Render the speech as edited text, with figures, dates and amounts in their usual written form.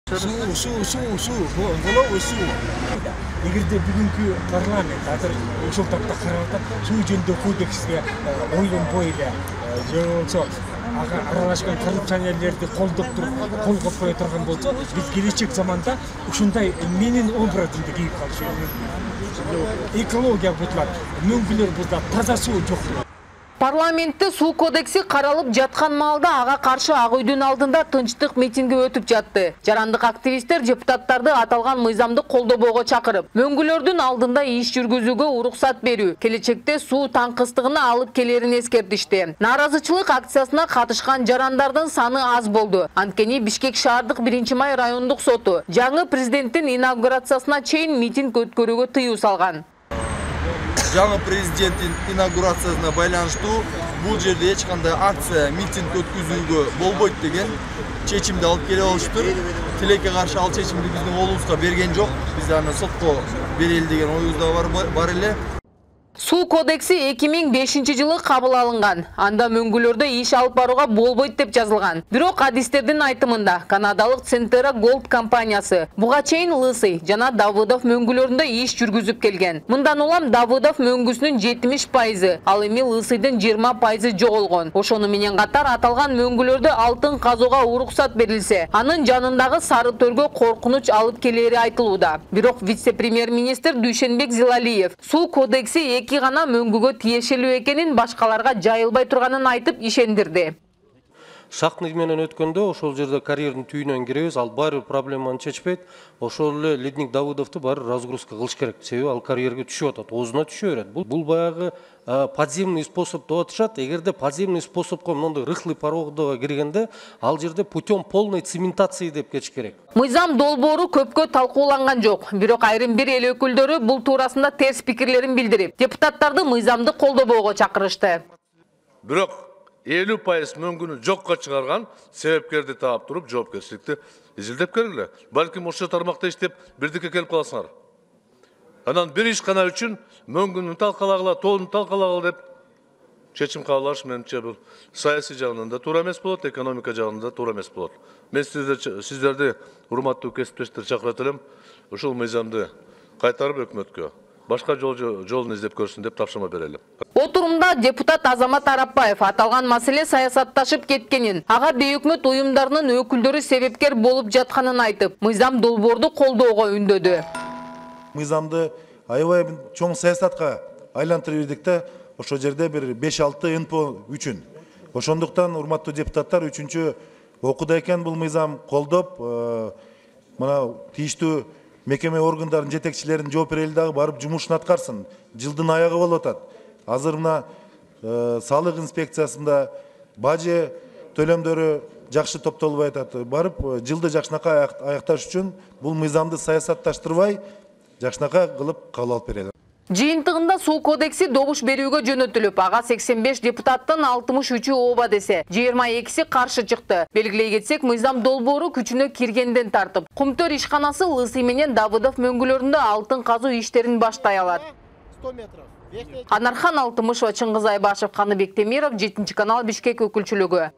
Суу, болобу суу. Эгерде бүгүнкү парламент азыр ушул тапта карап атат, суу жөнүндө кодекске ойлонбой эле же болбосо аралашкан коррупционерлерди колдоп туруп кол копкой турган болсо, биз келечек заманда ушундай менин образымды кийип калышыбыз. Экология бузулат, мөңгүлөр бузулат, таза суу жок. Парламентте суу кодекси каралып жаткан маалда ага каршы Ак үйдүн алдында тынчтык митинги өтүп жатты. Жарандык активисттер депутаттарды аталган мыйзамды колдобого чакырып, мөңгүлөрдүн алдында иш жүргүзүүгө уруксат берүү, келечекте суу таңкыстыгына алып келерин эскертишти. Нааразычылык акциясына катышкан жарандардын саны аз болду. Анткени Бишкек шаардык 1-май райондук соту жаңы президенттин инаугурациясына чейин митинг өткөрүүгө тыюу салган. Жаңы президенттин инаугурациясына байланыштуу бул жерде эч кандай акция, митинг өткөзүүгө болбойт деген чечимди алып келип алыштыр. Тилекке каршы ал чечимди биздин колубузга берген жок. Биз аны сотко берели деген оюбуз да бар эле. Суу кодекси 2005-жылы кабыл алынган. Анда мөңгүлөрдө иш алып барууга болбойт деп жазылган. Бирок адистердин айтымында канадалык Centera Gold компаниясы буга чейин Лысый жана Давыдов мөңгүлөрүндө иш жүргүзүп келген. Мындан улам Давыдов мөңгүсүнүн 70%, ал эми Лысыйдын 20% жоголгон. Ошону менен катар аталган мөңгүлөрдө алтын казууга уруксат берилсе, анын жанындагы сары төргө коркунуч алып келери айтылууда. Бирок вице-премьер-министр Дүйшенбек Зилалиев суу кодекси эки гана мөңгүгө тиешелүү экенин, башкаларга жайылбай турганын айтып ишендирди. Шактный менен өткөндө ошол жерде карьердин түйүнөн киребиз, ал баары проблеманы чечпейт. Ошол эле Ледник Давыдовду баары разгрузка кылыш керек. Себеби ал карьерге түшүп атат, оозуна түшө берет. Бул баягы подземный способ деп атышат. Эгерде подземный способко мондой рыхлый проводго киргенде, ал жерде путем полной цементации деп кетиш керек. Мыйзам долбоору көпкө талкууланган жок. Бирок айрым бир эл өкүлдөрү бул туурасында терс пикирлерин билдирип, депутаттарды мыйзамды колдобого чакырышты. Бирок 50% мөңгүнү жокко чыгарган себепкерди таап туруп, жоопкерчиликти изилдеп келгиле. Балким ошол тармакта иштеп, бирдикке келип каласыңар. Анан бир ишкана үчүн мөңгүнү талкалагыла, тоонун талкалагыла деп чечим кабыл алыш менимче бул саясий жагынан да туура эмес болот, экономика жагынан да туура эмес болот. Мен сиздерди урматтуу кесиптештер чакырат элем, ушул мыйзамды кайтарып өкмөткө башка жолун издеп көрсүн деп тапшырма берели. Отурумда депутат Азамат Арапбаев аталган маселе саясатташып кеткенин, ага бейөкмөт уюмдарынын өкүлдөрү себепкер болуп жатканын айтып, мыйзам долбоорду колдоого үндөдү. Мыйзамды аябай чоң саясатка айлантырып ирдик да, ошол жерде бир 5-6 НПО үчүн. Ошондуктан урматтуу депутаттар 3-чү окууда экен бул мыйзам колдоп, мына тийиштүү мекеме органдардын жетекчилерин жооп берели дагы барып жумушун аткарсын. Жылдын аягы болуп атат. Азыр мына салык инспекциясында бажы төлөмдөрү жакшы топтолбой атат. Барып жылды жакшынакай аякташ үчүн бул мыйзамды саясатташтырбай жакшынакай кылып кабыл алып берели. Жыйынтыгында суу кодекси добуш берүүгө жөнөтүлүп, ага 85 депутаттын 63-ü ооба десе, 22-си каршы чыкты. Белгилей кетсек, мыйзам долбоору күчүнө киргенден тартып, Кумтөр ишканасы Лысый менен Давыдов мөңгүлөрүндө алтын казуу иштерин баштай алат. Анархан Алтымышева, Чыңгыз Айбашев, Каныбек Темиров, 7-канал Бишкек өкүлчүлүгү.